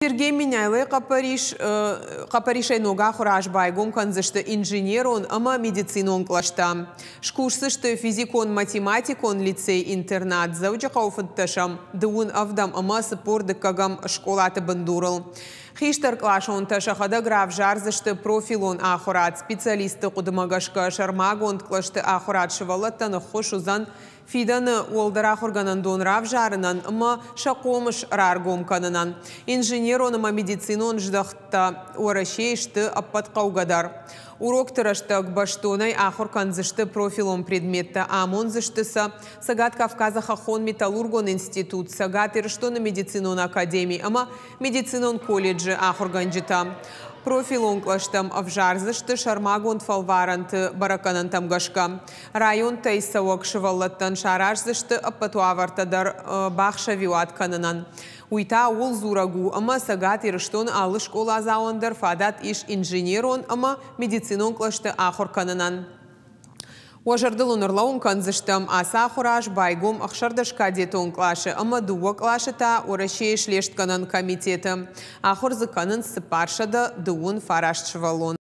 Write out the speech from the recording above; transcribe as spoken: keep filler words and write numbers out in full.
Сергей Меняйлойы хъӕппӕрис, хъӕппӕрисӕй ног ахуыры аз байгом кӕндзысты инженерон ӕмӕ медицинон кълӕстӕ. Скусдзысты физикон-математикон лицей-интернат Дзӕуджыхъӕуы фынддӕсӕм, дыууын ӕвдӕм ӕмӕ цыппор дыккӕгӕм скъолаты бындурыл. Хистӕркъласонтӕ сӕхӕдӕг равзардзысты профилон ахуырад. Специалистты хъуыдымӕ гӕсгӕ сӕрмагонд кълӕсты ахуырад сывӕллӕттӕн ӕххуыс уыдзӕн фидӕны уӕлдӕр ахуыргӕнӕндон равзарынӕн ӕмӕ сӕ хъомыс раргом кӕнынӕн. Инженерон ӕмӕ медицинон здӕхттӕ Уӕрӕсейы сты ӕппӕт хъӕугӕдӕр. Урокты рӕстӕг бӕстонӕй ахуыр кӕндзысты профилон предметтӕ, амондзысты сӕ Цӕгат Кавказы хӕххон-металлургон институт, Цӕгат Ирыстоны медицинон академи ӕмӕ медицинон колледжы ахуыргӕнджытӕ. Профилон кълӕстӕм ӕвзардзысты сӕрмагонд фӕлварӕнты бӕрӕггӕнӕнтӕм гӕсгӕ. Районтӕй цӕуӕг сывӕллӕттӕн сараздзысты ӕппӕт уавӕртӕ дӕр бахсӕвиуат кӕнынӕн. Уый та ууыл дзурӕг у, ӕмӕ Цӕгат Ирыстоны алы скъоладзауӕн дӕр фадат ис инженерон ӕмӕ медицинон кълӕсты ахуыр кӕнынӕн. Уӕ зӕрдыл уын ӕрлӕууын кӕндзыстӕм, ацы ахуыры аз байгом ӕхсӕрдӕс кадетон къласы ӕмӕ дыууӕ къласы та Уӕрӕсейы слестгӕнӕн комитеты. Ахуыр дзы кӕнынц цыппарсӕдӕ дыууын фараст сывӕллоны.